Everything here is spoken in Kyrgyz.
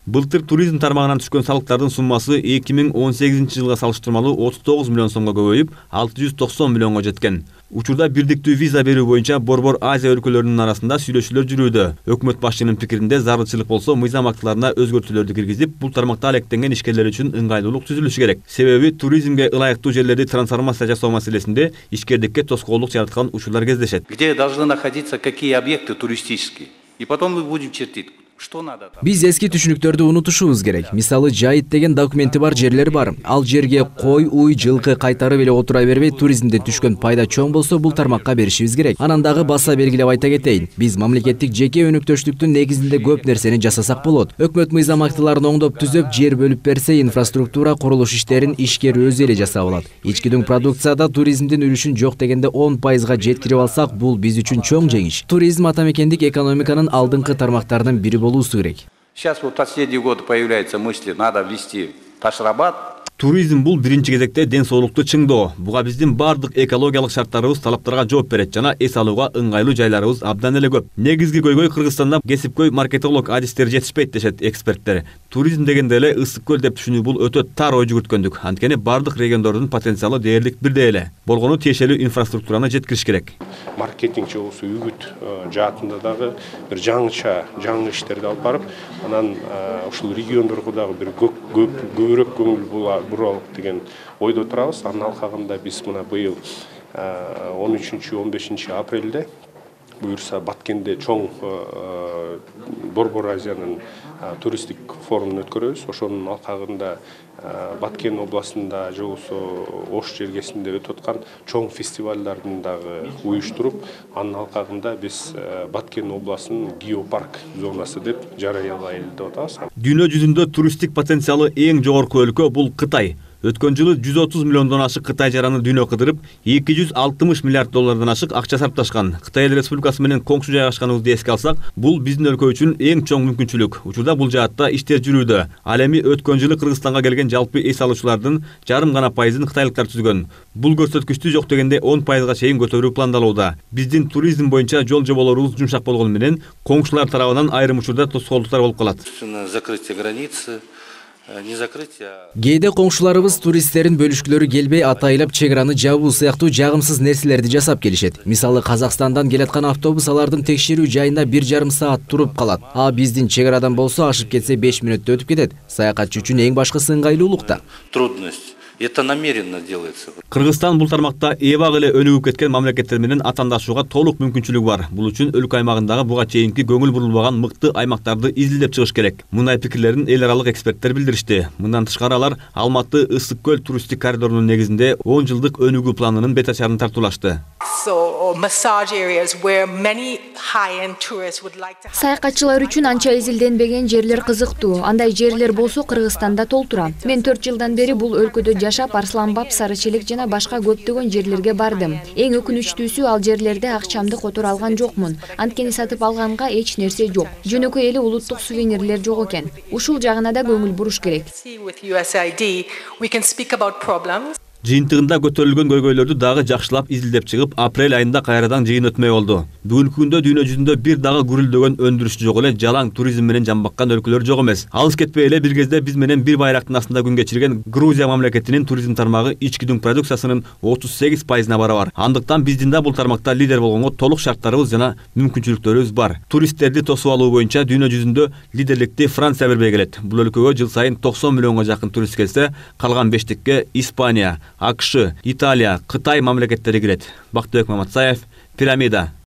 Былтыр туризм тармагынан түшкөн салыктардын суммасы 2018 жылга салыштырмалуу 39 миллион сомго көбөйүп, 690 миллионго жеткен. Учурда бирдиктүү виза берүү боюнча Борбор Азия өлкөлөрүнүн арасында сүйлөшүүлөр жүрүүдө. Өкмөт башчынын пикиринде зарылчылык болсо, мыйзам актыларына өзгөртүүлөрдү киргизип, бул тармакта алектенген ишкерлер үчүн ыңгайлуулук түзүлүшү керек. Себеби туризмге ылайыктуу жерлерди трансформация жасоо маселесинде ишкердикке тоскоолдук жараткан учурлар кездешет. Где должны находиться какие объекты туристические? И потом мы будем чертить. Биз эски түшүнүктөрдү унутушубуз керек. Мисалы, жайыт деген документи бар жерлер бар. Ал жерге кой, уй, жылкы кайтарып эле отура бербей, туризмден түшкөн пайда чоң болсо, бул тармакка беришибиз керек. Анан дагы баса белгилеп айта кетейин. Биз мамлекеттик жеке өнөктөштүктүн негизинде көп нерсени жасасак болот. Өкмөт мыйзам актыларын оңдоп түзөп, жер бөлүп берсе, инфраструктура, курулуш иштерин ишкер өзү эле жасап алат. Ички продукцияда туризмдин үлүшүн жок дегенде 10%га жеткирип алсак, бул биз үчүн чоң жеңиш. Туризм атамекендик экономиканын алдыңкы тармактарынын бири болуусу керек. Сейчас вот последние годы появляются мысли, надо ввести ташрабат. Туризм бул биринчи кезекте ден соолукту чыңдоо. Буга биздин бардык экологиялык шарттарыбыз талаптарга жооп берет жана эс алууга ыңгайлуу жайларыбыз абдан эле көп. Негизги көйгөй Кыргызстанда кесипкөй маркетолог адистер жетишпейт дешет эксперттер. Туризм дегенде эле ысык көл деп түшүнүү бул өтө тар ой жүгүрткөндүк. Анткени бардык региондордун потенциалы дээрлик бирдей эле. Болгону тиешелүү инфраструктураны жеткириш керек. Маркетинг болсо үгүт жаатында дагы бир жаңы иштерди алып барып, анан ушул региондорго дагы бир көбүрөөк көңүл буралык деген ойдо турабыз. Анын алкагында биз мына быйыл 13-15 апрелде буюрса Баткенде чоң Борбор Азиянын туристтик форумун өткөрөбүз. Ошонун алкагында Баткен областында же болбосо Ош жергесинде өтүп аткан чоң фестивалдардын дагы уюштуруп, анын алкагында биз Баткен областынын геопарк зонасы деп жарыялайлы деп атабыз. Дүйнө жүзүндө туристтик потенциалы эң жогорку өлкө бул Кытай. Өткөн жылы 130 миллиондон ашык Кытай жараны дүйнө кыдырып, 260 миллиард доллардан ашык акча сарпташкан. Кытай Республикасы менен коңшу жайгашканыбызды эске алсак, бул биздин өлкө үчүн эң чоң мүмкүнчүлүк. Учурда бул жаатта иштер жүрүүдө. Ал эми өткөн жылы Кыргызстанга келген жалпы эс алуучулардын жарым гана пайызын кытайлыктар түзгөн. Бул көрсөткүчтү жок дегенде 10%га чейин көтөрүү пландалууда. Биздин туризм боюнча жол жоболорубуз жумшак болгону менен коңшулар тарабынан айрым учурда тоскоолдуктар болуп калат. Закрытие границы. Кээде коңшуларыбыз туристтерин бөлүшкүлөрү келбей атайылап чек араны жабуу сыяктуу жагымсыз нерселерди жасап келишет. Мисалы, Казакстандан келаткан автобус алардын текшерүү жайында 1,5 саат туруп калат. А биздин чек арадан болсо ашып кетсе 5 мүнөттө өтүп кетет. Саякатчы үчүн эң башкысы ыңгайлуулукта. Трудность. Это намеренно делается. Кыргызстан бул тармакта эбак эле өнүгүп кеткен мамлекеттер менен атаандашууга толук мүмкүнчүлүгү бар. Бул үчүн өлкө аймагындагы буга чейинки көңүл бурулбаган мыкты аймактарды изилдеп чыгыш керек. Мындай пикирлерин эл аралык эксперттер билдиришти. Мындан тышкары алар Алматы Ысык көл туристтик коридорунун негизинде 10 жылдык өнүгүү планынын бет ачарын тартуулашты. Саякатчылар үчүн анча изилденбеген жерлер кызыктуу. Андай жерлер болсо Кыргызстанда толтура. Мен 4 жылдан бери бул өлкөдө жашап, Арсланбап, Сарычелек жана башка көптөгөн жерлерге бардым. Эң өкүнүчтүүсү, ал жерлерде акчамды которо алган жокмун. Анткени сатып алганга эч нерсе жок. Жөнөкөй эле улуттук сувенирлер жок экен. Ушул жагына да көңүл буруш керек. Жыйынтыгында көтөрүлгөн көйгөйлөрдү дагы жакшылап изилдеп чыгып, апрель айында кайрадан жыйын өтмөй болду. Бүгүнкү күндө дүйнө жүзүндө бир дагы гүрүлдөгөн өндүрүш жок эле, жалаң туризм менен жамбаккан өлкөлөр жок эмес. Алыс кетпей эле бир кезде биз менен бир байрактын астында күн кечирген Грузия мамлекетинин туризм тармагы ички дүң продукциясынын 38%-на барабар. Андыктан биздин да бул тармакта лидер болгонго толук шарттарыбыз жана мүмкүнчүлүктөрүбүз бар. Туристтерди тосуп алуу боюнча дүйнө жүзүндө лидерликти Франция бербей келет. Бул өлкөгө жыл сайын 90 миллионго жакын турист келсе, калган 5-тикке Испания, АКШ, Италия, Кытай мамлекеттери кирет. Бактыбек Маматсаев, Пирамида.